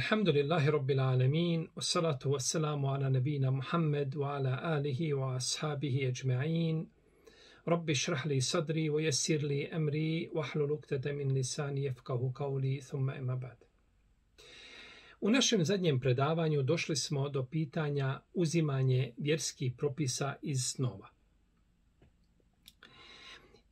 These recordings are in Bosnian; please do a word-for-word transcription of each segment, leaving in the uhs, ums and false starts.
Alhamdulillahi Rabbil Alamin, wassalatu wassalamu ala nabina Muhammed wa ala alihi wa ashabihi ajma'in. Rabbi šrah li sadri wa yassir li amri wahlul uqdata min lisani yafqahu qawli thumma amma ba'd. U našem zadnjem predavanju došli smo do pitanja uzimanje vjerskih propisa iz snova.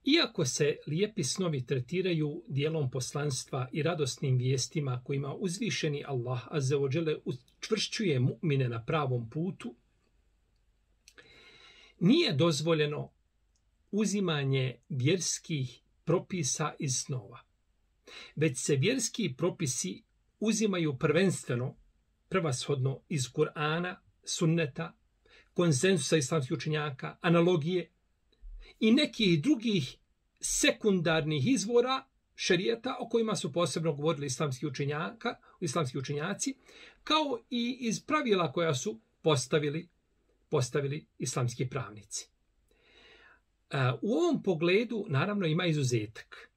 Iako se lijepi snovi tretiraju dijelom poslanstva i radosnim vijestima kojima uzvišeni Allah azza wa dželle učvršćuje mu'mine na pravom putu, nije dozvoljeno uzimanje vjerskih propisa iz snova. Već se vjerski propisi uzimaju prvenstveno, prvashodno iz Kur'ana, sunneta, konsenzusa islamskih učenjaka, analogije i nekih drugih sekundarnih izvora šerijata o kojima su posebno govorili islamski učenjaka, islamski učenjaci, kao i iz pravila koja su postavili, postavili islamski pravnici. U ovom pogledu naravno ima izuzetak.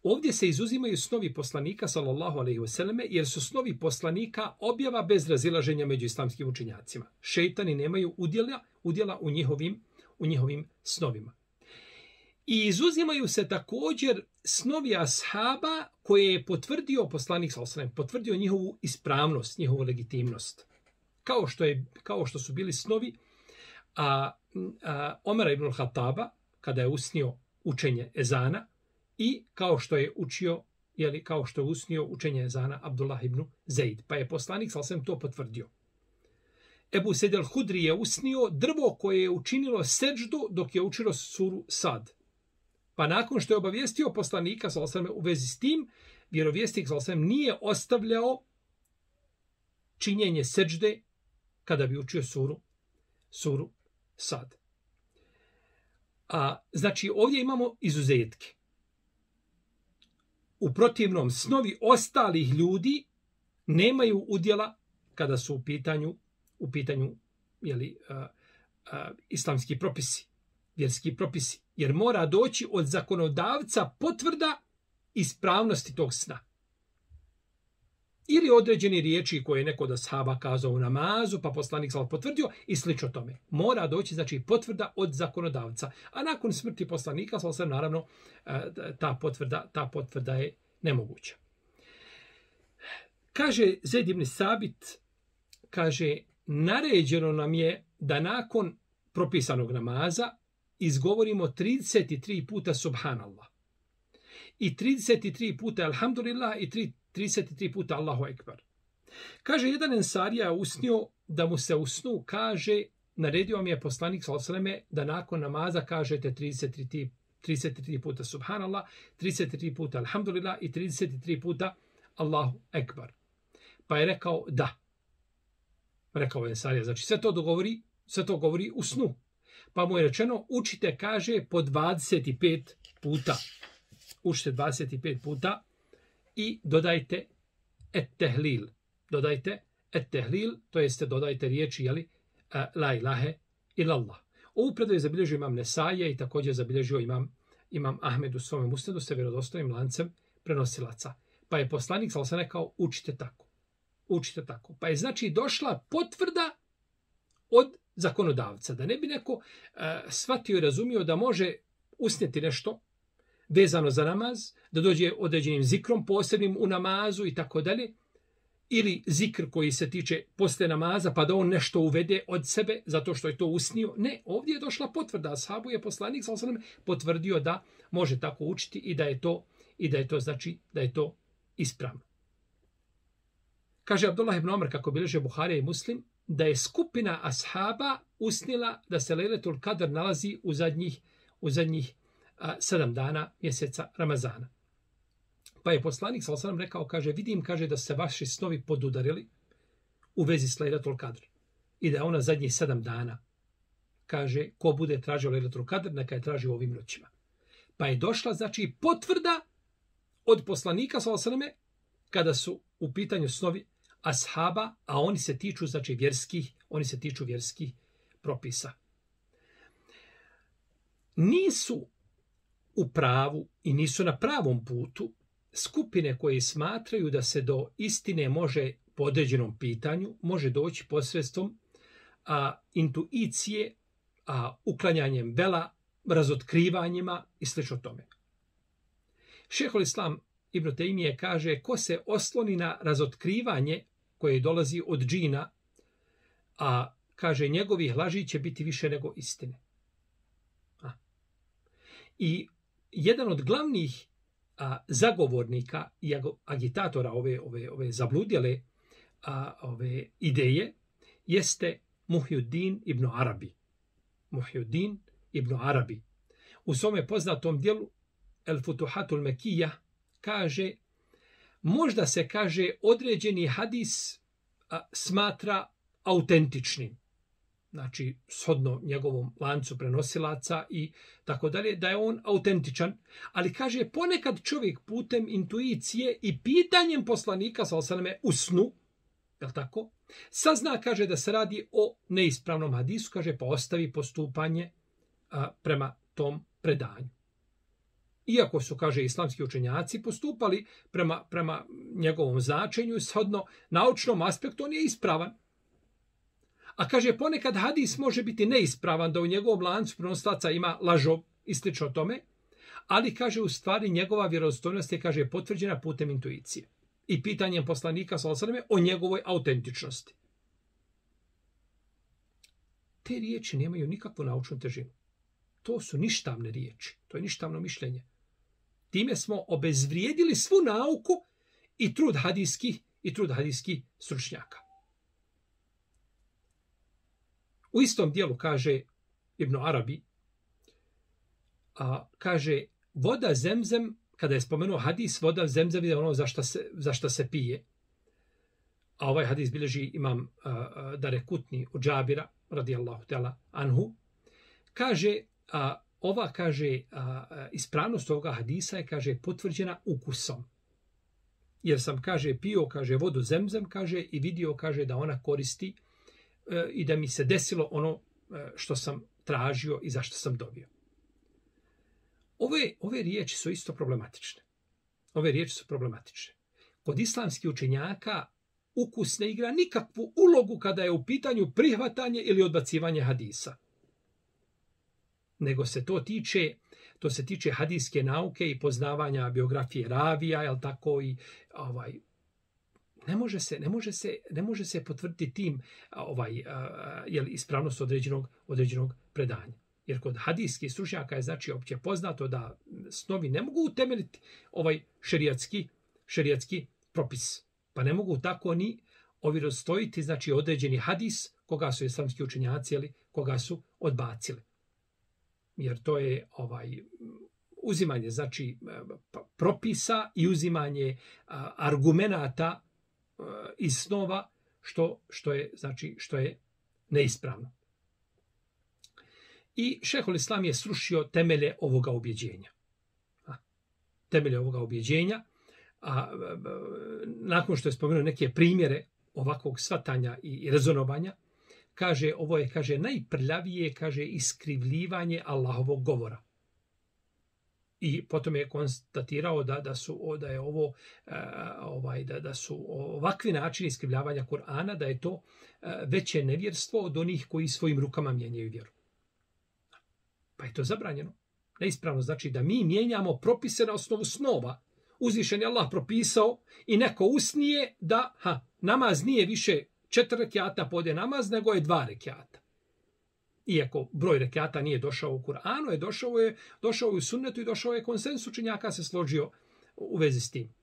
Ovdje se izuzimaju snovi poslanika sallallahu alejhi ve selleme, jer su snovi poslanika objava bez razilaženja među islamskim učenjacima. Šejtani nemaju udjela, udjela u njihovim u njihovim snovima. I izuzimaju se također snovi ashaba koje je potvrdio poslanik sallallahu alejhi ve sellem, potvrdio njihovu ispravnost, njihovu legitimnost. Kao što je kao što su bili snovi a, a Omera ibn al-Khattaba kada je usnio učenje ezana i kao što je učio jeli kao što je usnio učenje ezana Abdullah ibn Zaid, pa je poslanik sallallahu alejhi ve sellem to potvrdio. Ebu Sejid al-Hudri je usnio drvo koje je učinilo seđdu dok je učilo suru Sad. Pa nakon što je obavijestio poslanika sallallahu alejhi ve sellem u vezi s tim, vjerovjesnik sallallahu alejhi ve sellem nije ostavljao činjenje seđde kada bi učio suru suru Sad. A znači ovdje imamo izuzetke. U protivnom snovi ostalih ljudi nemaju udjela kada su u pitanju u pitanju jeli, uh, uh, islamski propisi, vjerski propisi. Jer mora doći od zakonodavca potvrda ispravnosti tog sna. Ili određeni riječi koje je neko od ashaba kazao u namazu, pa poslanik sallallahu potvrdio i slično tome. Mora doći znači potvrda od zakonodavca. A nakon smrti poslanika sallallahu naravno uh, ta potvrda, ta potvrda je nemoguća. Kaže Zaid ibn Sabit, kaže, naređeno nam je da nakon propisanog namaza izgovorimo trideset tri puta subhanallah i trideset tri puta alhamdulillah i trideset tri puta Allahu ekber. Kaže, jedan ensarija usnio da mu se u snu kaže, naredio mi je poslanik sallallahu alejhi ve selleme da nakon namaza kažete trideset tri, trideset tri puta subhanallah, trideset tri puta alhamdulillah i trideset tri puta Allahu ekber. Pa je rekao da. Rekao je ensarija, znači sve to dogovori, sve to govori u snu. Pa mu je rečeno, učite, kaže, po dvadeset pet puta. Učite dvadeset pet puta i dodajte et-tehlil. Dodajte et-tehlil, to jeste dodajte riječi, jeli, la ilahe illallah. Ovu predaju je zabilježio imam Nesaje i također zabilježio imam, imam Ahmed u svome musnedu sa vjerodostojnim lancem prenosilaca. Pa je poslanik sallallahu alejhi ve sellem rekao, učite tako. Učite tako. Pa je znači došla potvrda od zakonodavca. Da ne bi neko uh, shvatio i razumio da može usnijeti nešto vezano za namaz, da dođe određenim zikrom posebnim u namazu i tako dalje, ili zikr koji se tiče posle namaza, pa da on nešto uvede od sebe zato što je to usnio. Ne, ovdje je došla potvrda. Ashabu je poslanik sallallahu alejhi ve sellem potvrdio da može tako učiti i da je to, i da je to znači da je to ispravno. Kaže Abdullah ibn Omer, kako bilježe Buharija i Muslim, da je skupina ashaba usnila da se Lejletul Kadr nalazi u zadnjih, u zadnjih a, sedam dana mjeseca Ramazana. Pa je poslanik sallallahu alejhi ve sellem rekao, kaže, vidim, kaže, da se vaši snovi podudarili u vezi s Lejletul Kadr i da je ona zadnjih sedam dana. Kaže, ko bude tražio Lejletul Kadr, neka je traži u ovim noćima. Pa je došla, znači, potvrda od poslanika sallallahu alejhi ve selleme kada su u pitanju snovi ashaba, a oni se tiču znači vjerskih, oni se tiču vjerskih propisa. Nisu u pravu i nisu na pravom putu skupine koje smatraju da se do istine može po određenom pitanju, može doći posredstvom a, intuicije, a, uklanjanjem vela, razotkrivanjima i slično tome. Šejhul Islam Ibn Tejmije kaže, ko se osloni na razotkrivanje koje dolazi od džina, a kaže, njegovih laži će biti više nego istine. A. I jedan od glavnih a, zagovornika i agitatora ove, ove, ove zabludjele a, ove ideje jeste Muhyiddin ibn Arabi. Muhyiddin ibn Arabi. U svome poznatom dijelu El Futuhatul Mekija kaže, možda se kaže određeni hadis a, smatra autentičnim. Znači, shodno njegovom lancu prenosilaca i tako dalje, da je on autentičan. Ali kaže, ponekad čovjek putem intuicije i pitanjem poslanika, sallallahu alejhi ve selleme, u snu, je li tako, sazna, kaže, da se radi o neispravnom hadisu, kaže, pa ostavi postupanje a, prema tom predanju. Iako su, kaže, islamski učenjaci postupali prema, prema njegovom značenju, shodno naučnom aspektu, on je ispravan. A kaže, ponekad hadis može biti neispravan, da u njegovom lancu prenosilaca ima lažov i slično tome, ali, kaže, u stvari njegova vjerodostojnost je, kaže, potvrđena putem intuicije i pitanjem poslanika sallallahu alejhi ve selleme o njegovoj autentičnosti. Te riječi nemaju nikakvu naučnu težinu. To su ništavne riječi, to je ništavno mišljenje. Time smo obezvrijedili svu nauku i trud hadijskih i trud hadijskih stručnjaka. U istom dijelu kaže Ibn Arabi, a, kaže, voda zemzem, kada je spomenuo hadis, voda zemzem je ono za šta se, za šta se pije. A ovaj hadis bilježi imam a, a, Darekutni od Džabira, radijallahu ta'ala anhu, kaže, a, ova, kaže, a, ispravnost ovoga hadisa je, kaže, potvrđena ukusom. Jer sam, kaže, pio, kaže, vodu zemzem, kaže, i vidio, kaže, da ona koristi e, i da mi se desilo ono e, što sam tražio i zašto sam dobio. Ove, ove riječi su isto problematične. Ove riječi su problematične. Kod islamskih učenjaka ukus ne igra nikakvu ulogu kada je u pitanju prihvatanje ili odbacivanje hadisa. Nego se to tiče, to se tiče hadijske nauke i poznavanja biografije ravija, jel tako, i ovaj ne može se, ne može se, ne može se potvrditi tim ovaj jel ispravnost određenog određenog predanja. Jer kod hadijskih stručnjaka je, znači, opće poznato da snovi ne mogu utemeljiti ovaj šerijatski šerijatski propis. Pa ne mogu tako ni ovjerostojiti, znači, određeni hadis koga su islamski učenjaci ili koga su odbacili. Jer to je ovaj uzimanje, znači, propisa i uzimanje argumenata iz snova, što, što je, znači, što je neispravno. I šejhul Islam je srušio temelje ovoga ubjeđenja. Temelje ovoga ubjeđenja, a nakon što je spomenuo neke primjere ovakvog svatanja i rezonovanja, kaže, ovo je, kaže, najprljavije, kaže, iskrivljivanje Allahovog govora. I potom je konstatirao da, da su da je ovo uh, ovaj da, da su ovakvi načini iskrivljavanja Kur'ana, da je to uh, veće nevjerstvo od onih koji svojim rukama mijenjaju vjeru. Pa je to zabranjeno. Neispravno znači da mi mijenjamo propise na osnovu snova. Uzvišen je Allah propisao i neko usnije da ha, namaz nije više četiri rekjata pode namaz, nego je dva rekjata. Iako broj rekjata nije došao u Kur'anu, je došao je došao je u sunnetu i došao je konsensus učenjaka se složio u vezi s tim.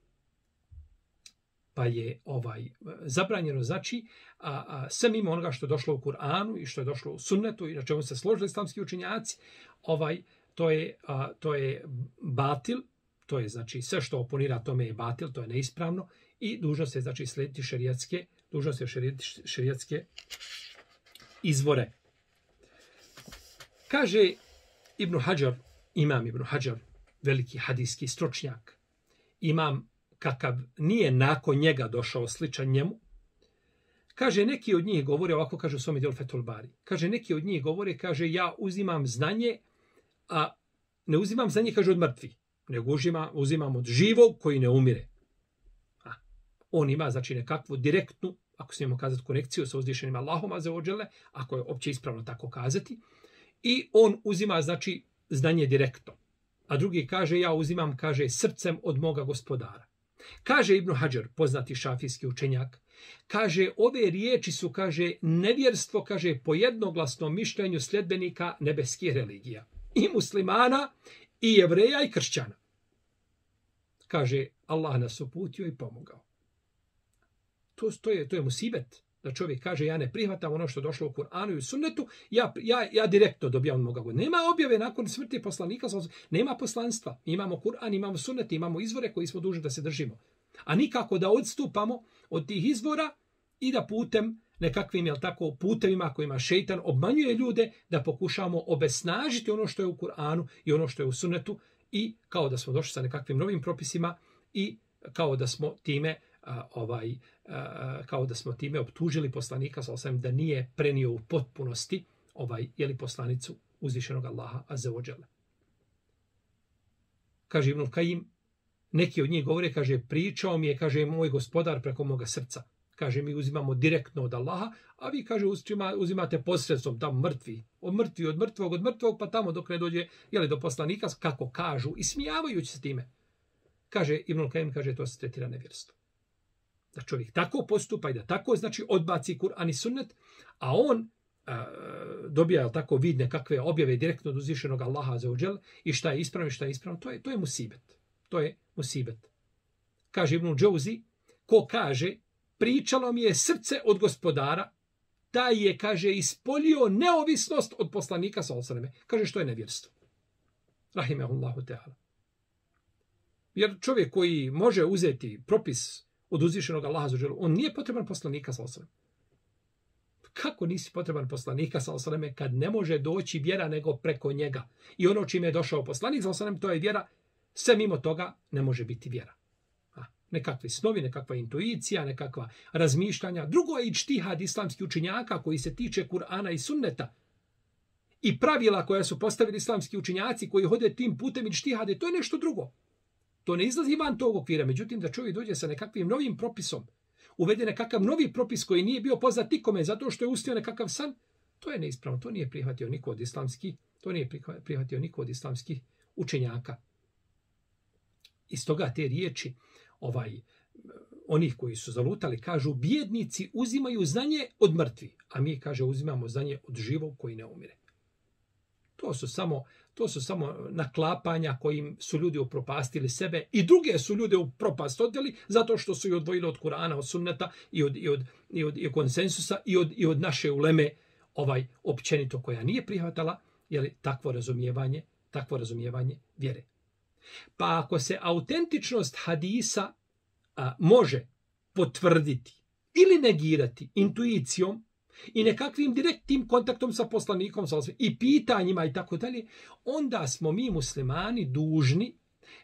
Pa je ovaj zabranjeno znači a, a sve mimo onoga što je došlo u Kur'anu i što je došlo u sunnetu i na čemu se složili islamski učenjaci, ovaj to je a, to je batil, to je znači sve što oponira tome je batil, to je neispravno i dužnost je znači slijediti šerijatske, dužnost je šerijatske, šerijatske izvore. Kaže Ibn Hadžar, imam Ibn Hadžar, veliki hadijski stručnjak, imam kakav nije nakon njega došao sličan njemu, kaže, neki od njih govore, ovako kaže u svome djelu Fethul Bari, kaže, neki od njih govore, kaže, ja uzimam znanje, a ne uzimam znanje, kaže, od mrtvih, nego uzima, uzimamo od živog koji ne umire. A, on ima znači nekakvu direktnu, ako smijemo kazati, konekciju sa uzvišenim Allahom azza wa dželle, ako je opće ispravno tako kazati, i on uzima znači znanje direktno. A drugi kaže, ja uzimam, kaže, srcem od moga gospodara. Kaže Ibn Hadžar, poznati šafijski učenjak, kaže, ove riječi su, kaže, nevjerstvo, kaže, po jednoglasnom mišljenju sljedbenika nebeskih religija. I muslimana, i jevreja, i kršćana. Kaže, Allah nas uputio i pomogao. To, to, je, to je musibet. Da čovjek kaže, ja ne prihvatam ono što je došlo u Kur'anu i u sunnetu, ja, ja, ja direktno dobijam moga god. Nema objave nakon smrti poslanika, nema poslanstva. Imamo Kur'an, imamo sunnet, imamo izvore koji smo dužni da se držimo. A nikako da odstupamo od tih izvora i da putem nekakvim, jel tako, putevima kojima šejtan obmanjuje ljude, da pokušamo obesnažiti ono što je u Kur'anu i ono što je u sunnetu i kao da smo došli sa nekakvim novim propisima i kao da smo time a, ovaj a, kao da smo time optužili poslanika sallallahu alejhi ve sellem da nije prenio u potpunosti ovaj je li poslanicu uzvišenog Allaha azza wa dželle. Kaže Ibn Kajim, neki od njih govore, kaže, pričao mi je, kaže, moj gospodar preko moga srca. Kaže, mi uzimamo direktno od Allaha, a vi, kaže, uzimate posredstvom tamo mrtvi. Od mrtvi, od mrtvog, od mrtvog, pa tamo dok ne dođe, jeli, do poslanika, kako kažu, i smijavajući se time. Kaže, Ibn Kajim, kaže, to se tretira nevjerstvo. Da čovjek tako postupa i da tako, znači, odbaci Kur'an i sunnet, a on a, dobija, jel tako, vid nekakve objave direktno od uzvišenog Allaha azza wa dželle i šta je ispravno i šta je ispravno, to je, to je musibet. To je musibet. Kaže Ibn Džauzi, ko kaže, pričalo mi je srce od gospodara, taj je, kaže, ispolio neovisnost od poslanika sallallahu alejhi ve selleme. Kaže, što je nevjerstvo. Rahimehullahu teala. Jer čovjek koji može uzeti propis od uzvišenog Allaha azza wa dželle, on nije potreban poslanika sallallahu alejhi ve selleme. Kako nisi potreban poslanika sallallahu alejhi ve selleme kad ne može doći vjera nego preko njega? I ono čime je došao poslanik sallallahu alejhi ve selleme, to je vjera. Sve mimo toga ne može biti vjera. A, nekakvi snovi, nekakva intuicija, nekakva razmišljanja. Drugo je ičtihad islamskih učenjaka koji se tiče Kur'ana i sunneta. I pravila koja su postavili islamski učenjaci koji hode tim putem ičtihade, to je nešto drugo. To ne izlazi van tog okvira. Međutim, da čovjek dođe sa nekakvim novim propisom, uvede nekakav novi propis koji nije bio poznat nikome zato što je ustio nekakav san, to je neispravno. To nije prihvatio niko od islamskih, to nije prihvatio niko od islamskih učenjaka. Iz toga te riječi, ovaj, onih koji su zalutali, kažu, bijednici uzimaju znanje od mrtvi, a mi, kaže, uzimamo znanje od živog koji ne umire. To su samo, to su samo naklapanja kojim su ljudi upropastili sebe i druge su ljude u propast odveli zato što su i odvojili od Kur'ana, od sunneta i od, i od, i od, i od konsensusa i od, i od naše uleme ovaj, općenito koja nije prihvatala, jeli, takvo razumijevanje, takvo razumijevanje vjere. Pa ako se autentičnost hadisa a, može potvrditi ili negirati intuicijom i nekakvim direktnim kontaktom sa poslanikom i pitanjima i tako dalje, onda smo mi muslimani dužni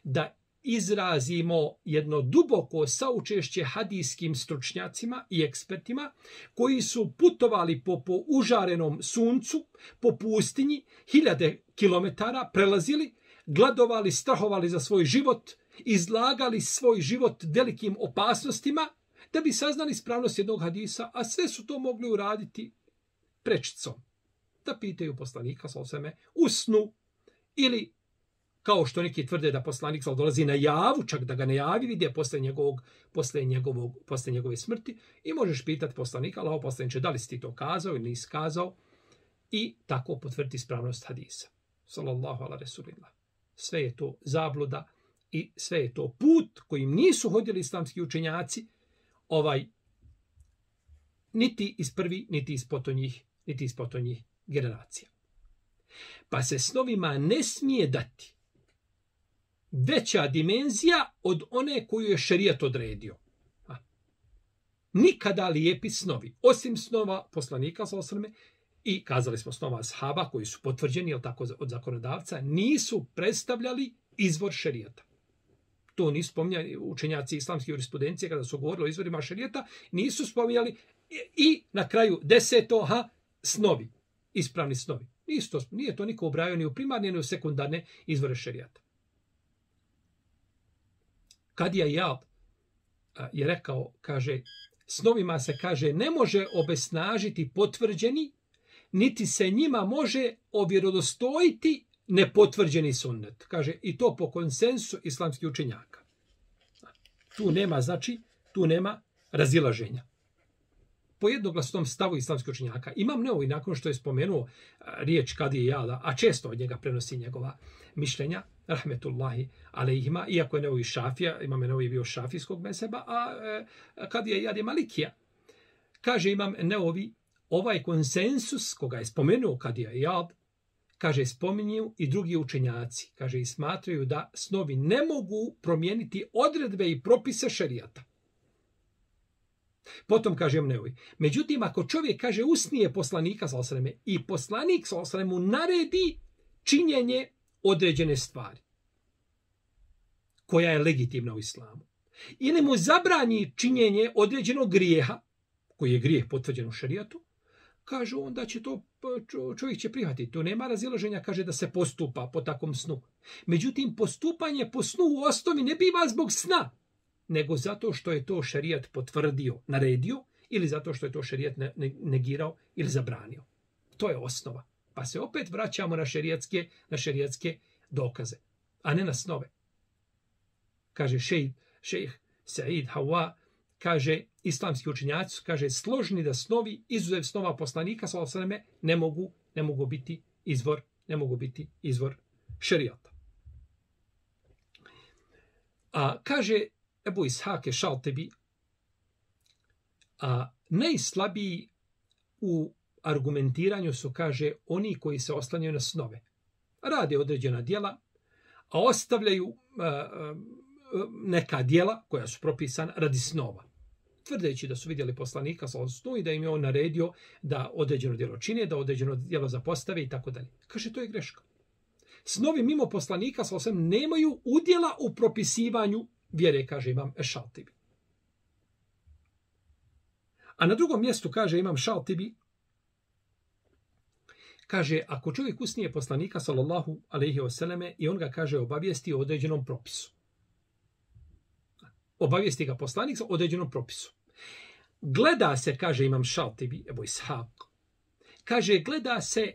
da izrazimo jedno duboko saučešće hadijskim stručnjacima i ekspertima koji su putovali po, po užarenom suncu, po pustinji, hiljade kilometara prelazili, gladovali, strahovali za svoj život, izlagali svoj život velikim opasnostima da bi saznali ispravnost jednog hadisa, a sve su to mogli uraditi prečicom. Da pitaju poslanika sallallahu alejhi ve selleme u snu ili kao što neki tvrde da poslanik sallallahu dolazi na javu, čak da ga ne javi, vidi posle njegovog posle njegovog posle njegove smrti i možeš pitati poslanika, Allahov poslanice, da li si ti to kazao ili nisi kazao i tako potvrditi ispravnost hadisa. Sallallahu ala rasulillah. Sve je to zabluda i sve je to put kojim nisu hodili islamski učenjaci, ovaj niti iz prvi, niti iz potonjih, niti iz potonjih generacija. Pa se snovima ne smije dati veća dimenzija od one koju je šerijat odredio. A. Nikada lijepi snovi, osim snova poslanika sallallahu alejhi ve selleme i kazali smo snova ashaba koji su potvrđeni, jel tako, od zakonodavca, nisu predstavljali izvor šerijata. To nisu spominjali učenjaci islamske jurisprudencije kada su govorili o izvorima šerijata, nisu spominjali i na kraju deseto, ha, snovi, ispravni snovi. Nisu to, nije to niko ubrajao ni u primarne, ni u sekundarne izvore šerijata. Kadija Iyad je rekao, kaže, snovima se, kaže, ne može obesnažiti potvrđeni, niti se njima može ovjerodostojiti nepotvrđeni sunnet. Kaže, i to po konsensu islamskih učenjaka. Tu nema, znači, tu nema razilaženja. Po jednoglasnom stavu islamskih učenjaka. Imam Neovi, nakon što je spomenuo riječ Kadije Iyada, a često od njega prenosi njegova mišljenja, rahmetullahi alejhima, iako je Neovi šafija, Imam Neovi bio šafijskog mezheba, a Kadija Iyad je malikija. Kaže Imam Neovi, ovaj konsensus koga je spomenuo Kadija Iyad, kaže, spominju i drugi učenjaci, kaže, i smatraju da snovi ne mogu promijeniti odredbe i propise šerijata. Potom kaže Neovi, međutim, ako čovjek kaže usnije poslanika sallallahu alejhi ve selleme i poslanik sallallahu alejhi ve selleme naredi činjenje određene stvari, koja je legitimna u islamu, ili mu zabrani činjenje određenog grijeha, koji je grijeh potvrđen u šerijatu, kaže, onda će to, čovjek će prihvatiti. To nema razilaženja, kaže, da se postupa po takvom snu. Međutim, postupanje po snu u osnovi ne biva zbog sna, nego zato što je to šerijat potvrdio, naredio, ili zato što je to šerijat negirao ili zabranio. To je osnova. Pa se opet vraćamo na šerijatske, na šerijatske dokaze, a ne na snove. Kaže šejh, šejh Said Hawa, kaže, islamski učenjaci, kaže, složni da snovi, izuzev snova poslanika sallallahu alejhi ve selleme, ne mogu, ne mogu biti izvor, ne mogu biti izvor šerijata. A kaže Ebu Ishak Šaltebi, a najslabiji u argumentiranju su, kaže, oni koji se oslanjaju na snove. Rade određena djela, a ostavljaju a, a, neka djela koja su propisana radi snova. Tvrdeći da su vidjeli poslanika sa snu i da im je on naredio da određeno djelo čine, da određeno djelo zapostave i tako dalje. Kaže, to je greška. Snovi mimo poslanika sa osam nemaju udjela u propisivanju vjere, kaže Imam Šaltibi. A na drugom mjestu kaže Imam Šaltibi, kaže, ako čovjek usnije poslanika sallallahu alejhi ve selleme i on ga, kaže, obavijesti o određenom propisu. Obavijesti ga poslanik o određenom propisu. Gleda se, kaže Imam Šaltibi, Ebu Ishak, kaže, gleda se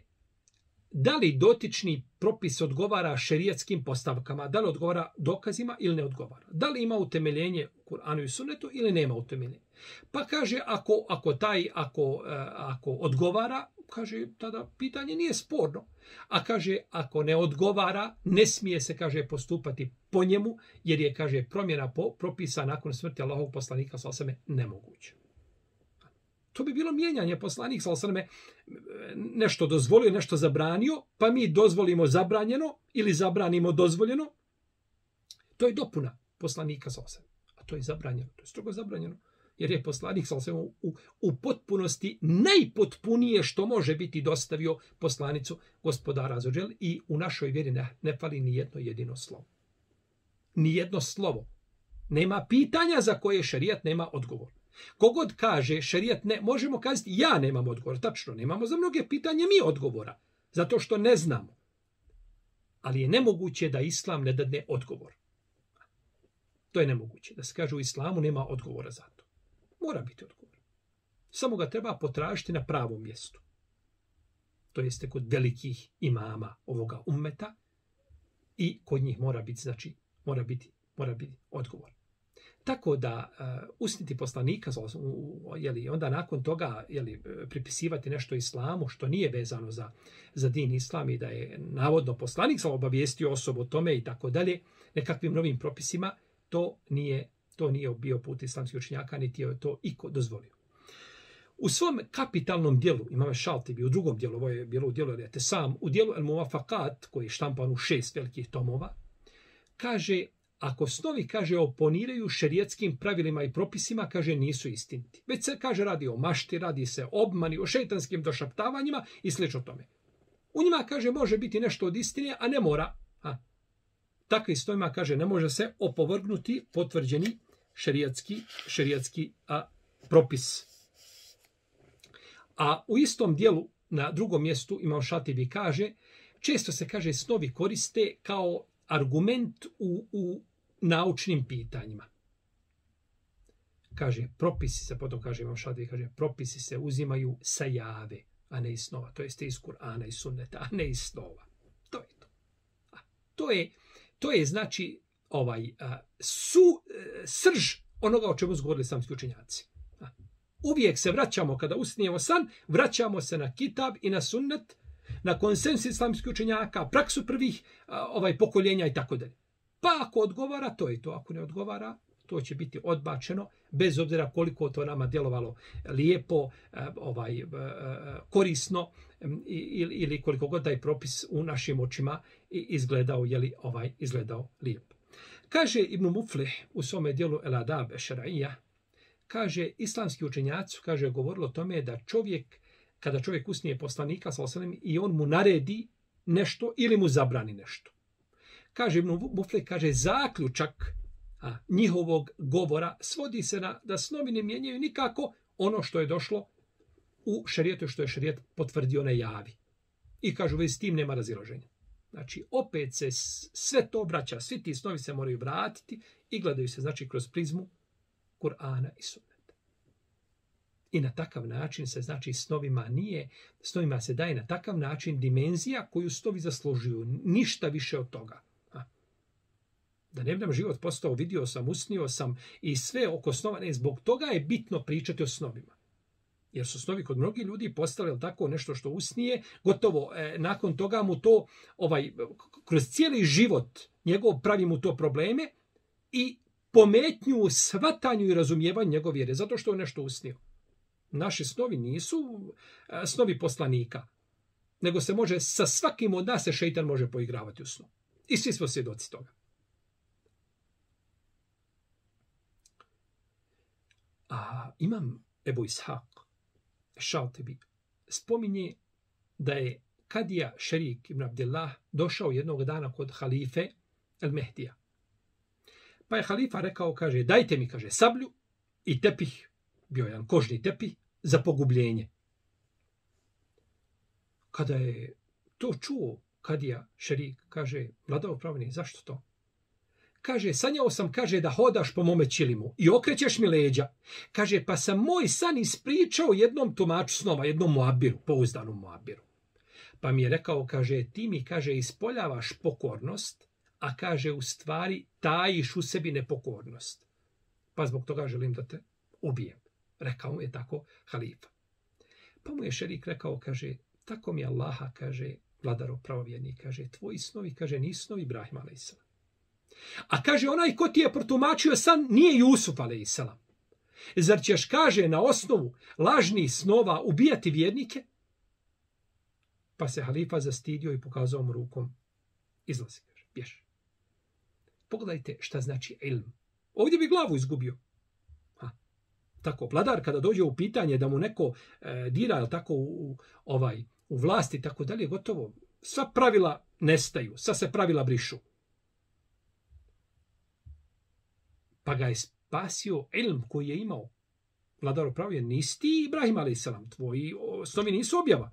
da li dotični propis odgovara šerijatskim postavkama, da li odgovara dokazima ili ne odgovara. Da li ima utemeljenje u Kur'anu i Sunnetu ili nema utemeljenje. Pa kaže, ako, ako taj, ako, ako odgovara, kaže, tada pitanje nije sporno. A kaže, ako ne odgovara, ne smije se, kaže, postupati po njemu, jer je, kaže, promjena po, propisa nakon smrti Allahovog poslanika sallallahu alejhi ve selleme nemoguće. To bi bilo mijenjanje. Poslanik sallallahu alejhi ve selleme nešto dozvolio, nešto zabranio, pa mi dozvolimo zabranjeno ili zabranimo dozvoljeno. To je dopuna poslanika sallallahu alejhi ve selleme. A to je zabranjeno. To je strogo zabranjeno. Jer je poslanik sallallahu alejhi ve selleme u, u potpunosti najpotpunije što može biti dostavio poslanicu Gospodara azza ve džel i u našoj vjeri ne, ne fali ni jedno jedino slovo. Ni jedno slovo. Nema pitanja za koje šerijat nema odgovor. Kogod kaže šerijat ne, možemo kazati ja nemam odgovor. Tačno, nemamo za mnoge pitanje mi odgovora. Zato što ne znamo. Ali je nemoguće da islam ne dadne odgovor. To je nemoguće. Da se kaže u islamu nema odgovora za to. Mora biti odgovor. Samo ga treba potražiti na pravom mjestu. To jeste kod velikih imama ovoga ummeta i kod njih mora biti, znači, mora biti, mora biti odgovor. Tako da uh, usniti poslanika, jeli, onda nakon toga jeli, pripisivati nešto islamu što nije vezano za, za din islam i da je navodno poslanik sam obavijestio osobu o tome i tako dalje, nekakvim novim propisima, to nije, to nije bio put islamskih učenjaka, niti je to iko dozvolio. U svom kapitalnom dijelu, Imam Šaltibi, u drugom dijelu, ovo je bilo u dijelu Al I'tisam, u dijelu El Muvafakat, koji je štampan u šest velikih tomova, kaže, ako snovi, kaže, oponiraju šerijatskim pravilima i propisima, kaže, nisu istiniti. Već se, kaže, radi o mašti, radi se o obmani, o šejtanskim došaptavanjima i slično tome. U njima, kaže, može biti nešto od istine, a ne mora. A, takvi snovima, kaže, ne može se opovrgnuti potvrđeni šerijatski, šerijatski a, propis. A u istom dijelu, na drugom mjestu, Imam Šatibi kaže, često se, kaže, snovi koriste kao argument u, u naučnim pitanjima. Kaže, propisi se, potom kaže Imam Šadvi, kaže, propisi se uzimaju sa jave, a ne iz snova. To jeste iz Kur'ana i sunneta, a ne iz snova. To je to. A, to je, to je znači, ovaj, a, su, a, srž onoga o čemu su govorili islamski učenjaci. A, uvijek se vraćamo, kada usnijemo san, vraćamo se na kitab i na sunnet, na konsensus islamskih učenjaka, praksu prvih a, ovaj pokoljenja i tako dalje. Pa ako odgovara, to je to. Ako ne odgovara, to će biti odbačeno, bez obzira koliko to nama djelovalo lijepo, ovaj, korisno ili koliko god taj propis u našim očima izgledao, jeli, ovaj, izgledao lijepo. Kaže Ibn Muflih u svome dijelu El Adab Ešara'ija, kaže, islamski učenjaci, kaže, govorilo o tome da čovjek, kada čovjek usnije poslanika, i on mu naredi nešto ili mu zabrani nešto. Kaže Ibn Muflih, kaže, zaključak a, njihovog govora svodi se na da snovi ne mijenjaju nikako ono što je došlo u šerijetu, što je šerijet potvrdio na javi. I kažu, već s tim nema razilaženja. Znači, opet se sve to vraća, svi ti snovi se moraju vratiti i gledaju se, znači, kroz prizmu Kur'ana i sunneta. I na takav način se, znači, snovima nije, snovima se daje na takav način dimenzija koju snovi zaslužuju. Ništa više od toga. Da ne bi nam život postao, vidio sam, usnio sam i sve oko snova. Ne, zbog toga je bitno pričati o snovima. Jer su snovi kod mnogih ljudi postali tako nešto što usnije, gotovo e, nakon toga mu to, ovaj, kroz cijeli život njegov pravi mu to probleme i pometnju, shvatanju i razumijevanju njegove vjere, zato što je nešto usnio. Naši snovi nisu e, snovi poslanika, nego se može, sa svakim od nas se šeitan može poigravati u snu. I svi smo svjedoci toga. A imam Ebu Ishaq Šaltibi spominje da je Kadija Šerik ibn Abdillah došao jednog dana kod halife El Mehdija. Pa je halifa rekao, kaže, dajte mi, kaže, sablju i tepih, bio jedan kožni tepih, za pogubljenje. Kada je to čuo Kadija Šerik, kaže, vladao pravni, zašto to? Kaže, sanjao sam, kaže, da hodaš po mome ćilimu i okrećeš mi leđa. Kaže, pa sam moj san ispričao jednom tumaču snova, jednom muabiru, pouzdanom muabiru. Pa mi je rekao, kaže, ti mi, kaže, ispoljavaš pokornost, a kaže, u stvari tajiš u sebi nepokornost. Pa zbog toga želim da te ubijem. Rekao mu je tako halifa. Pa mu je šerik rekao, kaže, tako mi Allaha, kaže, vladaro pravovjerni, kaže, tvoji snovi, kaže, nisu snovi Ibrahima alejselam. A kaže, onaj ko ti je protumačio san nije Jusuf alejselam. Zar ćeš, kaže, na osnovu lažnih snova ubijati vjernike? Pa se halifa zastidio i pokazao mu rukom. Izlazi, kaže, bjež. Pogledajte šta znači ilm. Ovdje bi glavu izgubio. Ha. Tako, vladar kada dođe u pitanje da mu neko e, dira tako u, ovaj, u vlasti, tako dalje, gotovo, sva pravila nestaju, sva se pravila brišu. Pa ga je spasio ilm koji je imao. Vladar upravio, nisi ti Ibrahim alejselam, tvoji snovi nisu objava.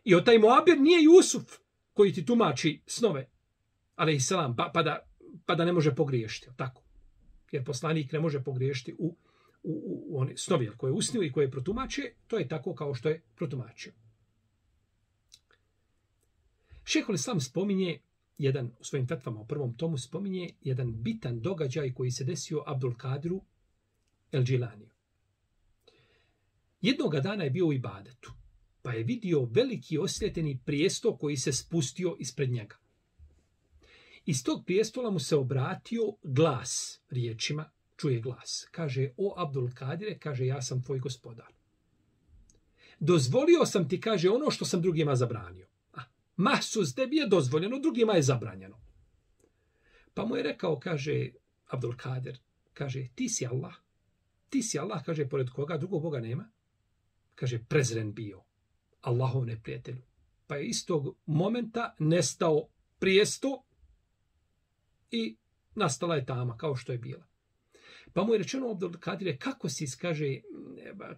I od taj Moabir nije Jusuf koji ti tumači snove alejselam, pa, pa, da, pa da ne može pogriješiti. Tako. Jer poslanik ne može pogriješiti u, u, u, u one snovi koje je usnio i koje je protumačio, to je tako kao što je protumačio. Šejhul Islam spominje jedan, u svojim fetvama u prvom tomu spominje jedan bitan događaj koji se desio Abdul Kadiru El Džilaniju. Jednoga dana je bio u ibadetu, pa je vidio veliki osvjetljeni prijestol koji se spustio ispred njega. Iz tog prijestola mu se obratio glas riječima, čuje glas. Kaže, o Abdul Kadire, kaže, ja sam tvoj gospodar. Dozvolio sam ti, kaže, ono što sam drugima zabranio. Mahsus, tebi je dozvoljeno, drugima je zabranjeno. Pa mu je rekao, kaže, Abdul Kadir, kaže, ti si Allah. Ti si Allah, kaže, pored koga drugog Boga nema. Kaže, prezren bio. Allahov neprijatelju. Pa je iz tog momenta nestao prijesto i nastala je tama, kao što je bila. Pa mu je rečeno Abdul Kadire, kako si, kaže,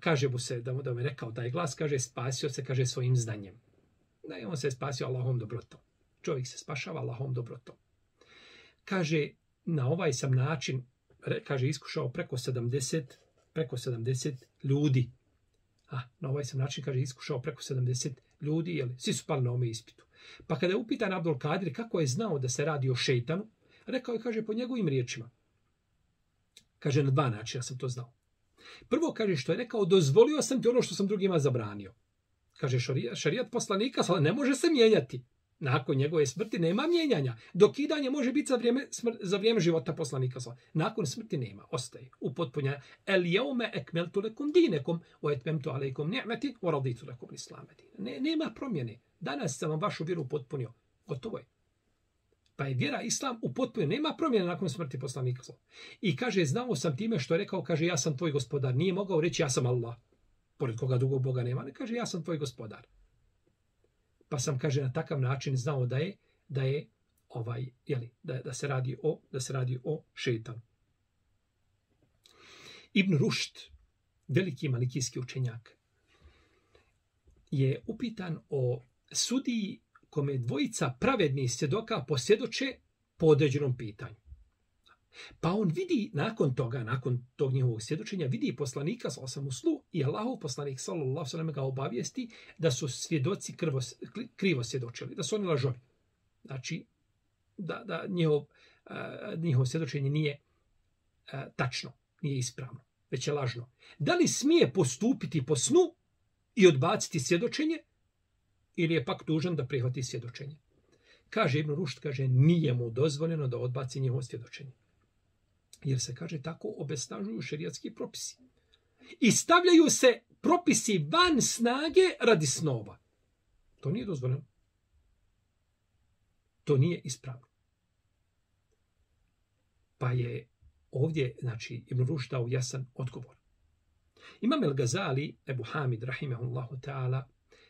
kaže mu se, da mu, da mu je rekao taj glas, kaže, spasio se, kaže, svojim znanjem. Da on se spasio Allahom dobrotom. Čovjek se spašava Allahom dobrotom. Kaže, na ovaj sam način, kaže, iskušao preko sedamdeset, preko sedamdeset ljudi. A, na ovaj sam način, kaže, iskušao preko sedamdeset ljudi, jel, svi su pali na ome ispitu. Pa kada je upitan Abdul Kadir kako je znao da se radi o šejtanu, rekao je, kaže, po njegovim riječima. Kaže, na dva načina sam to znao. Prvo, kaže, što je rekao, dozvolio sam ti ono što sam drugima zabranio. Kaže, šarijat poslanika ne može se mijenjati. Nakon njegove smrti nema mijenjanja. Dokidanje može biti za vrijeme, za vrijeme života poslanika. Nakon smrti nema. Ostaje upotpunjena. El jeume ekmeltu lekum dinekum o etmemtu alejkum ni'meti o raditu lekum islame dine. Ne, nema promjene. Danas sam vam vašu vjeru upotpunio. Gotovo je. Pa je vjera islam upotpunjena. Nema promjene nakon smrti poslanika. I kaže, znao sam time što je rekao, kaže, ja sam tvoj gospodar. Nije mogao reći, ja sam Allah. Pored koga drugog Boga nema. Ne kaže, ja sam tvoj gospodar. Pa sam, kaže, na takav način znao da je da je ovaj jeli, da, da se radi o da se radi o šejtanu. Ibn Rušd, veliki malikijski učenjak, je upitan o sudiji kome dvojica pravednih svjedoka posvjedoče po određenom pitanju. Pa on vidi nakon toga, nakon tog njihovog svjedočenja, vidi poslanika sallallahu alejhi ve sellem i Allahov poslanik sallallahu alejhi ve sellem ga obavijesti da su svjedoci krvo, krivo svjedočili, da su oni lažovi. Znači, da, da njihov, uh, njihovo svjedočenje nije uh, tačno, nije ispravno, već je lažno. Da li smije postupiti po snu i odbaciti svjedočenje ili je pak dužan da prihvati svjedočenje? Kaže Ibn Rušd, kaže, nije mu dozvoljeno da odbaci njihovo svjedočenje. Jer se, kaže, tako obesnažuju šerijatski propisi. I stavljaju se propisi van snage radi snova. To nije dozvoljeno. To nije ispravno. Pa je ovdje, znači, Ibn Rušd dao jasan odgovor. Imam El Gazali, Ebu Hamid, rahimehullahu ta'ala,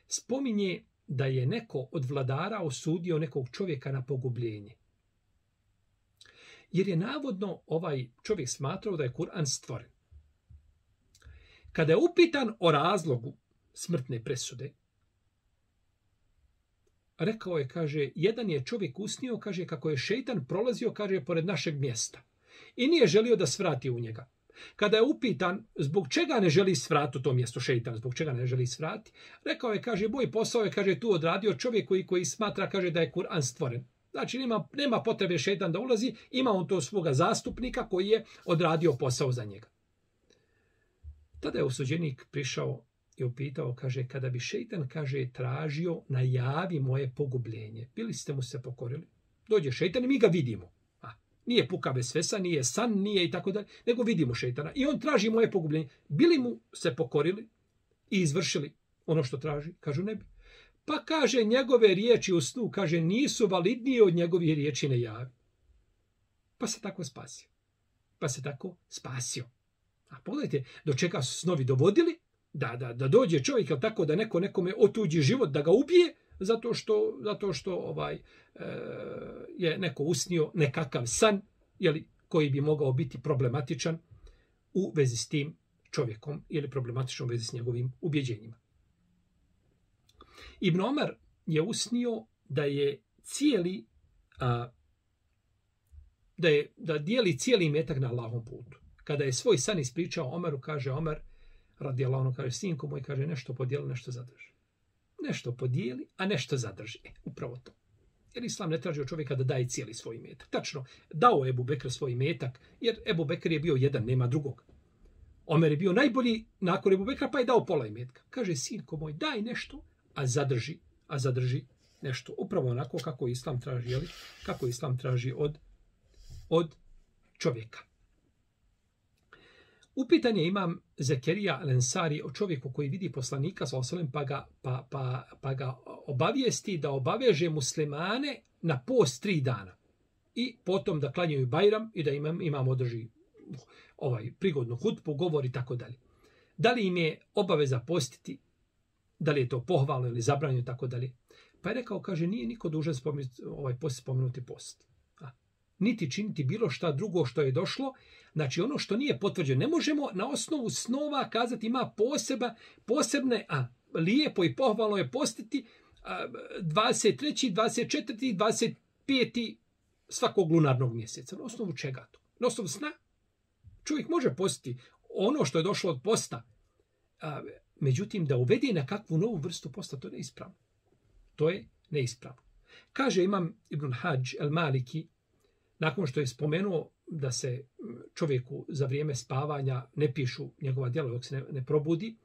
spominje da je neko od vladara osudio nekog čovjeka na pogubljenje. Jer je navodno ovaj čovjek smatrao da je Kur'an stvoren. Kada je upitan o razlogu smrtne presude, rekao je, kaže, jedan je čovjek usnio, kaže, kako je šejtan prolazio, kaže, pored našeg mjesta. I nije želio da svrati u njega. Kada je upitan zbog čega ne želi svrati u to mjesto šejtan, zbog čega ne želi svrati, rekao je, kaže, moj posao je, kaže, tu odradio čovjek koji, koji smatra, kaže, da je Kur'an stvoren. Znači, nema, nema potrebe šejtan da ulazi, ima on to svoga zastupnika koji je odradio posao za njega. Tada je osuđenik prišao i upitao, kaže, kada bi šejtan, kaže, tražio, najavi moje pogubljenje, bili ste mu se pokorili? Dođe šejtan i mi ga vidimo. A, nije puka bez svesa, nije san, nije i tako dalje, nego vidimo šejtana. I on traži moje pogubljenje. Bili mu se pokorili i izvršili ono što traži? Kažu, ne bi. Pa kaže, njegove riječi u snu, kaže, nisu validnije od njegovih riječi ne javi. Pa se tako spasio. Pa se tako spasio. A pogledajte, do čega su snovi dovodili, da, da, da dođe čovjek, ali tako da neko nekome otuđi život, da ga ubije, zato što, zato što ovaj, e, je neko usnio nekakav san, jeli, koji bi mogao biti problematičan u vezi s tim čovjekom ili problematičan u vezi s njegovim ubjeđenjima. Ibn Omer je usnio da je cijeli a, da je da dijeli cijeli imetak na Allahom putu. Kada je svoj san ispričao Omeru, kaže Omer, radijallahu anhu, kaže, sinko moj, kaže, nešto podijeli, nešto zadrži. Nešto podijeli, a nešto zadrži. E, upravo to. Jer Islam ne traži od čovjeka da daje cijeli svoj imetak. Tačno, dao Ebu Bekr svoj imetak, jer Ebu Bekr je bio jedan, nema drugog. Omer je bio najbolji nakon Ebu Bekra, pa je dao pola imetka. Kaže, sinko moj, daj nešto, a zadrži, a zadrži nešto. Upravo onako kako Islam traži, jeli? Kako Islam traži od, od čovjeka. Upitan je imam Zekerija Al-Ensari o čovjeku koji vidi poslanika sallallahu alejhi ve sellem pa ga, pa, pa, pa ga obavijesti da obaveže muslimane na post tri dana. I potom da klanjaju Bajram i da imam, imam održi ovaj prigodnu hutbu, govor i tako dalje. Da li im je obaveza postiti, da li je to pohvalno ili zabranjeno i tako dalje. Pa je rekao, kaže, nije niko dužan spomenuti, ovaj post spomenuti post. A, niti činiti bilo šta drugo što je došlo. Znači ono što nije potvrđeno. Ne možemo na osnovu snova kazati ima poseba, posebne, a lijepo i pohvalno je postiti a, dvadeset treći, dvadeset četvrti, dvadeset peti svakog lunarnog mjeseca. Na osnovu čega to? Na osnovu sna? Čovjek može postiti ono što je došlo od posta. A, međutim, da uvedi na kakvu novu vrstu posta, to je neispravno. To je neispravno. Kaže imam Ibn Hadž el-Maliki, nakon što je spomenuo da se čovjeku za vrijeme spavanja ne pišu njegova djela dok se ne, ne probudi,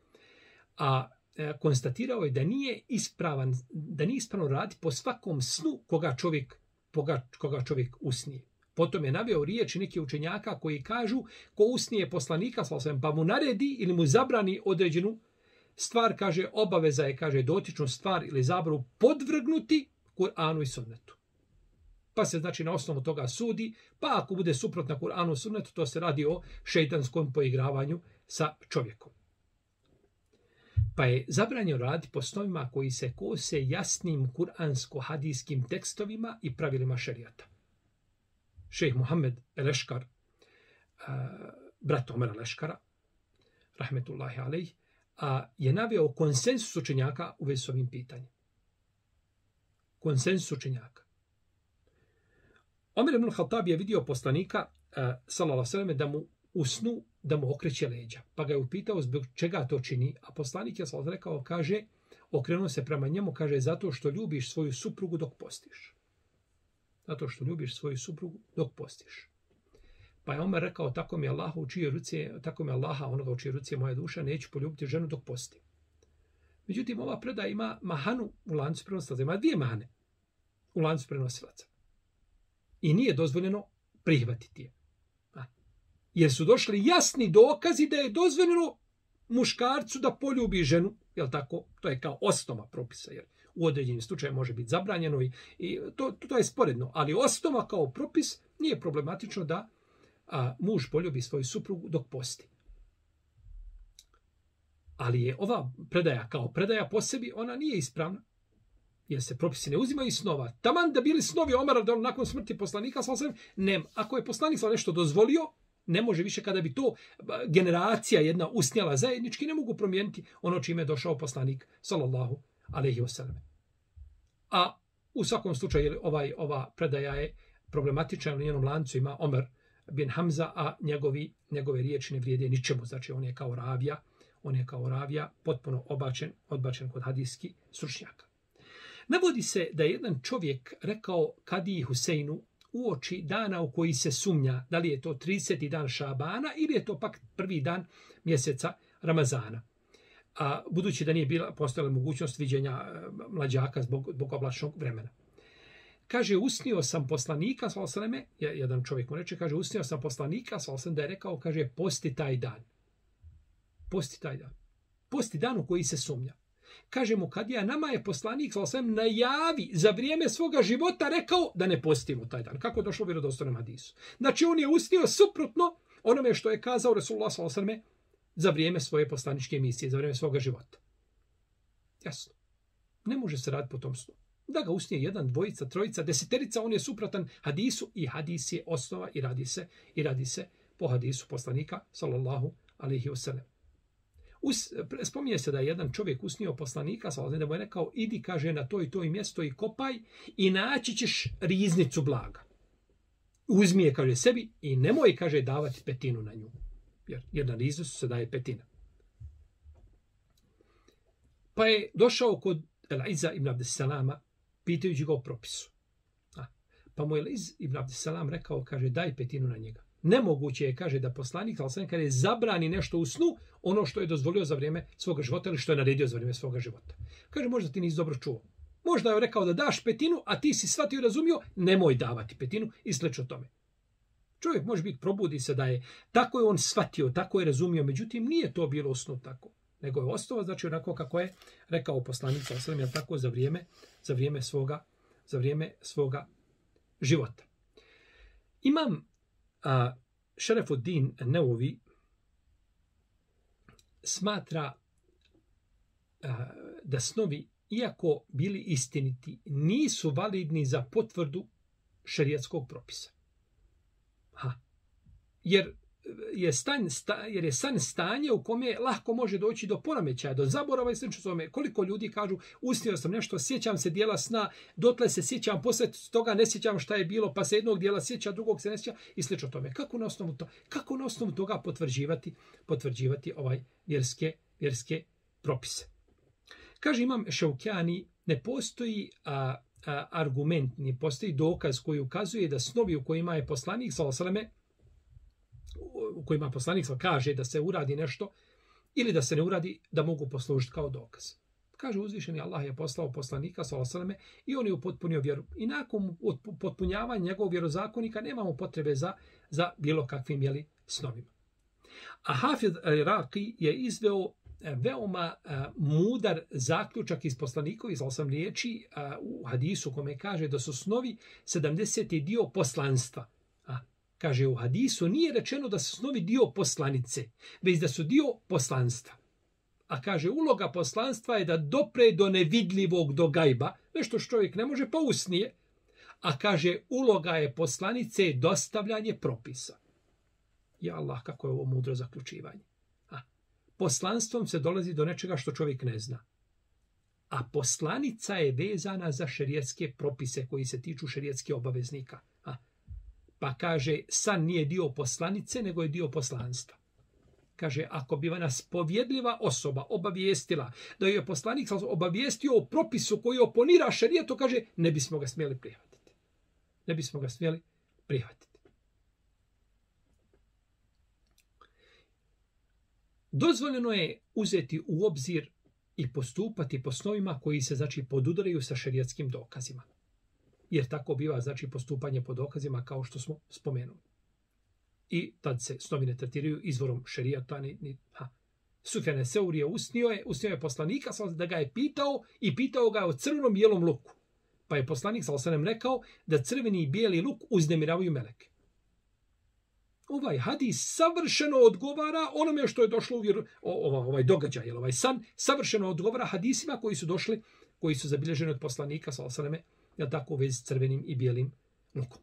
a e, konstatirao je da nije ispravan, da nije ispravno raditi po svakom snu koga čovjek, koga, koga čovjek usnije. Potom je naveo riječi neki učenjaka koji kažu ko usnije poslanika, pa mu naredi ili mu zabrani određenu stvar, kaže, obaveza je, kaže, dotičnu stvar ili zabravu podvrgnuti Kur'anu i sunnetu. Pa se znači na osnovu toga sudi, pa ako bude suprotna Kur'anu i sunnetu, to se radi o šejtanskom poigravanju sa čovjekom. Pa je zabranjeno raditi po snovima koji se kose jasnim kuransko-hadijskim tekstovima i pravilima šerijata. Šejh Muhammed el-Eškar, brat Omera el-Eškara, rahmetullahi alejh, je naveo konsensus učenjaka u vezi s ovim pitanjem. Konsensus učenjaka. Omer ibn al-Khattab je vidio poslanika, sallallahu alejhi ve sellem, da mu u snu da mu okreće leđa. Pa ga je upitao zbog čega to čini, a poslanik je sallallahu rekao, kaže, okrenuo se prema njemu, kaže, zato što ljubiš svoju suprugu dok postiš. Zato što ljubiš svoju suprugu dok postiš. Pa je Omer rekao, tako mi Allaha u čije ruci, tako mi Allaha onoga u čije ruci je moja duša, neću poljubiti ženu dok postim. Međutim, ova predaja ima mahanu u lancu prenosilaca. Ima dvije mahane u lancu prenosilaca. I nije dozvoljeno prihvatiti je. A. Jer su došli jasni dokazi da je dozvoljeno muškarcu da poljubi ženu. Jel tako? To je kao osnova propisa. Jer u određenim slučajima može biti zabranjeno i, i to, to je sporedno. Ali osnova kao propis nije problematično da a, muž poljubi svoju suprugu dok posti. Ali je ova predaja kao predaja po sebi, ona nije ispravna. Jer se propisi ne uzimaju iz snova. Taman da bili snovi Omara da nakon smrti poslanika, sallallahu alejhi ve sellem, ne, ako je poslanik sallallahu nešto dozvolio, ne može više kada bi to generacija jedna usnjala zajednički, ne mogu promijeniti ono čime je došao poslanik sallallahu alejhi ve sellem. A u svakom slučaju ovaj ova predaja je problematična, u njenom lancu ima Omer bin Hamza, a njegovi njegove riječi ne vrijede ničemu, znači on je kao ravija, on je kao ravija potpuno obačen, odbačen kod hadijskih stručnjaka. Navodi se da je jedan čovjek rekao Kadiji Huseinu uoči dana u koji se sumnja da li je to trideseti dan Šabana ili je to pak prvi dan mjeseca Ramazana. A budući da nije bila postojala mogućnost viđenja mlađaka zbog, zbog oblačnog vremena. Kaže, usnio sam poslanika, sallallahu alejhi ve sellem, jedan čovjek mu reče, kaže, usnio sam poslanika, sallallahu alejhi ve sellem, da je rekao, kaže, posti taj dan. Posti taj dan. Posti dan u koji se sumnja. Kaže mu Kadija, nama je poslanik sallallahu alejhi ve sellem najavi za vrijeme svoga života rekao da ne postimo taj dan. Kako je došlo u vjerodostojnom hadisu? Znači on je usnio suprotno onome što je kazao Resulullah sallallahu alejhi ve sellem za vrijeme svoje poslaničke misije, za vrijeme svoga života. Jasno. Ne može se raditi po tom snu. Da ga usnije jedan, dvojica, trojica, deseterica, on je suprotan hadisu i hadis je osnova i radi se i radi se po hadisu poslanika sallallahu alejhi ve sellem. Us, spominje se da je jedan čovjek usnio poslanika, sallallahu alejhi ve sellem, da mu je rekao, idi, kaže, na to i to i mjesto i kopaj i naći ćeš riznicu blaga. Uzmi je, kaže, sebi i nemoj, kaže, davati petinu na nju. Jer, jer na riznicu se daje petina. Pa je došao kod El-Iza ibn Abdesalama, pitajući ga o propisu. A, pa mu je El-Iz ibn Abdesalam rekao, kaže, daj petinu na njega. Nemoguće je, kaže, da poslanik, ali kada je zabrani nešto u snu, ono što je dozvolio za vrijeme svoga života ili što je naredio za vrijeme svoga života. Kaže, možda ti nisi dobro čuo. Možda je rekao da daš petinu, a ti si shvatio i razumio, nemoj davati petinu i slično tome. Čovjek može biti, probudi se da je, tako je on shvatio, tako je razumio, međutim nije to bilo u snu tako. Nego je ostalo, znači onako kako je rekao poslanik, sallallahu alejhi ve sellem, tako za vrijeme, za vrijeme svoga, za vrijeme svoga života. Imam a, Šerefuddin Neovi smatra a, da snovi, iako bili istiniti, nisu validni za potvrdu šerijatskog propisa. Ha. Jer je stan, sta, jer je san stanje u kome lahko može doći do poremećaja, do zaborava i slično tome. Koliko ljudi kažu, usnio sam nešto, sjećam se dijela sna, dotle se sjećam, posle toga ne sjećam šta je bilo, pa se jednog dijela sjeća, drugog se ne sjeća i slično tome. Kako na osnovu, to, kako na osnovu toga potvrđivati, potvrđivati ovaj vjerske, vjerske propise? Kaže imam Šaukjani, ne postoji a, a, argument, ne postoji dokaz koji ukazuje da snovi u kojima je poslanik sallallahu alejhi ve selleme u kojima poslanik kaže da se uradi nešto ili da se ne uradi, da mogu poslužiti kao dokaz. Kaže uzvišeni Allah je poslao poslanika sallallahu alejhi ve selleme i on je upotpunio vjeru. I nakon potpunjavanja njegovog vjerozakonika nemamo potrebe za, za bilo kakvim jeli, snovima. A Hafiz al-Iraqi je izveo veoma a, mudar zaključak iz poslanikovi sallallahu alejhi ve selleme riječi a, u hadisu kome kaže da su snovi sedamdeseti dio poslanstva. Kaže, u hadisu nije rečeno da su snovi dio poslanice, već da su dio poslanstva. A kaže, uloga poslanstva je da dopre do nevidljivog, do gajba, nešto što čovjek ne može, pa usnije. A kaže, uloga je poslanice dostavljanje propisa. Ja Allah, kako je ovo mudro zaključivanje. A, poslanstvom se dolazi do nečega što čovjek ne zna. A poslanica je vezana za šerijatske propise koji se tiču šerijatskih obaveznika. A, pa kaže, san nije dio poslanice, nego je dio poslanstva. Kaže, ako bi nas povjedljiva osoba obavijestila da je poslanik obavijestio o propisu koji oponira šerijetu, kaže, ne bismo ga smjeli prihvatiti. Ne bismo ga smjeli prihvatiti. Dozvoljeno je uzeti u obzir i postupati po snovima koji se, znači, podudaraju sa šerijatskim dokazima. Jer tako biva, znači, postupanje po dokazima kao što smo spomenuli. I tad se snovi ne tretiraju izvorom šerijata. Ni, ni, ha. Sufjan Seuri je usnio je, usnio je poslanika da ga je pitao i pitao ga o crvenom bijelom luku. Pa je poslanik sallallahu alejhi ve sellem rekao da crveni i bijeli luk uznemiravaju meleke. Ovaj hadis savršeno odgovara onome što je došlo u vjeru, o, ovaj događaj, ovaj san, savršeno odgovara hadisima koji su došli, koji su zabilježeni od poslanika sallallahu alejhi ve sellem, ja tako u vezi s crvenim i bijelim lukom.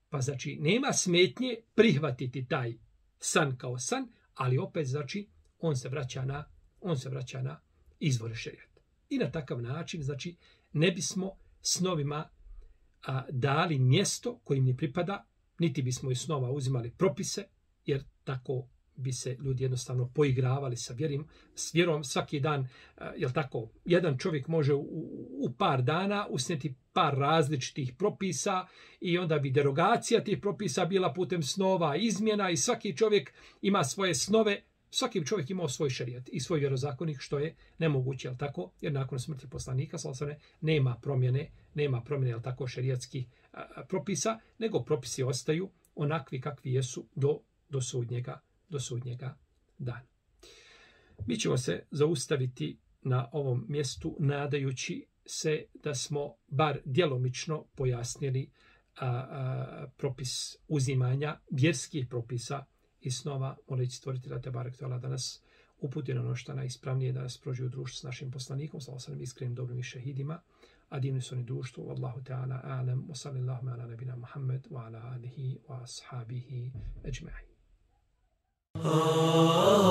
Pa znači nema smetnje prihvatiti taj san kao san, ali opet znači on se vraća na on se vraća na izvore šerijata. I na takav način znači ne bismo snovima a, dali mjesto kojim ne pripada, niti bismo iz snova uzimali propise, jer tako bi se ljudi jednostavno poigravali sa vjerim, s vjerom svaki dan, jel tako, jedan čovjek može u, u par dana usnijeti par različitih propisa i onda bi derogacija tih propisa bila putem snova, izmjena i svaki čovjek ima svoje snove, svaki čovjek ima svoj šerijat i svoj vjerozakonik, što je nemoguće, jel tako, jer nakon smrti poslanika sallallahu alejhi ve sellem nema promjene, nema promjene, jel tako, šerijatskih a, propisa, nego propisi ostaju onakvi kakvi jesu do, do sudnjega do sudnjega dana. Mi ćemo se zaustaviti na ovom mjestu nadajući se da smo bar djelomično pojasnili a, a, propis uzimanja vjerskih propisa i snova, moleći stvoritelja te barek tala da nas uputi na ono što najispravnije, da nas prođe u društvu s našim poslanikom, sallallahu alejhi ve sellem, iskrenim dobrim i šehidima, a divni su oni društvu, wallahu ta'ala a'lam, wa sallallahu ala nabina Muhammed, wa ala alihi wa ashabihi ajma'in. Oh